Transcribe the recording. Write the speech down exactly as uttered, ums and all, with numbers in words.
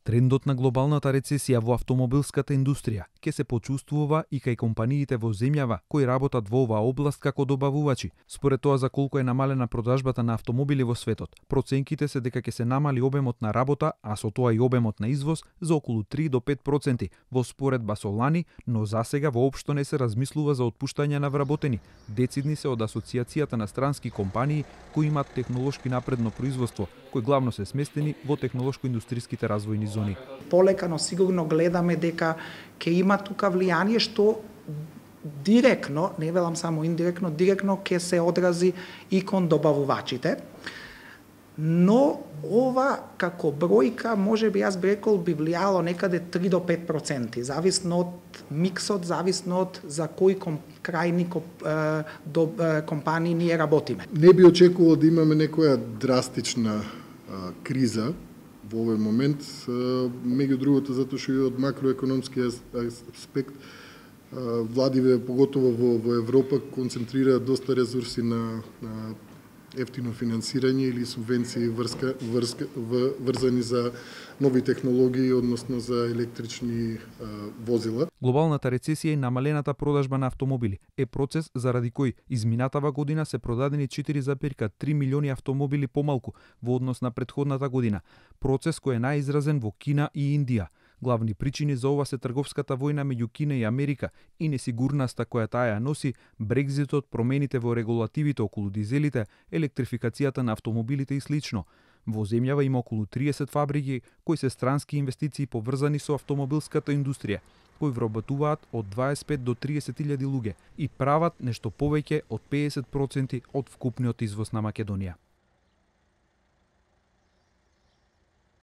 Трендот на глобалната рецесија во автомобилската индустрија ќе се почувствува и кај компаниите во земјава кои работат во оваа област како добавувачи. Според тоа за колку е намалена продажбата на автомобили во светот, проценките се дека ќе се намали обемот на работа, а со тоа и обемот на извоз за околу три до пет проценти во споредба со лани, но засега воопшто не се размислува за отпуштање на вработени. Децидни се од Асоциацијата на странски компании кои имаат технолошки напредно производство, кои главно се сместени во технолошко-индустријските развојни зони. Полека, но сигурно гледаме дека ќе има тука влијание што директно, не велам само индиректно, директно ќе се одрази и кон добавувачите. Но ова како бројка, може би јас би рекол, би влијало некаде три до пет проценти, зависно од миксот, зависно од за кој ком, крајни е, до, е, компании ние работиме. Не би очекувал да имаме некоја драстична а, криза во овој момент, меѓу другото затоа што и од макроекономски аспект владиве, поготово во, во Европа, концентрираат доста ресурси на, на ефтино финансирање или субвенции врска, врска, врзани за нови технологии, односно за електрични а, возила. Глобалната рецесија и намалената продажба на автомобили е процес заради кој изминатава година се продадени четири зарез три милиони автомобили помалку во однос на претходната година. Процес кој е најизразен во Кина и Индија. Главни причини за ова се трговската војна меѓу Кина и Америка и несигурноста која таа ја носи, Брекзитот, промените во регулативите околу дизелите, електрификацијата на автомобилите и слично. Во земјава има околу триесет фабрики кои се странски инвестиции поврзани со автомобилската индустрија, кои вработуваат од дваесет и пет до триесет илјади луѓе и прават нешто повеќе од педесет проценти од вкупниот извоз на Македонија.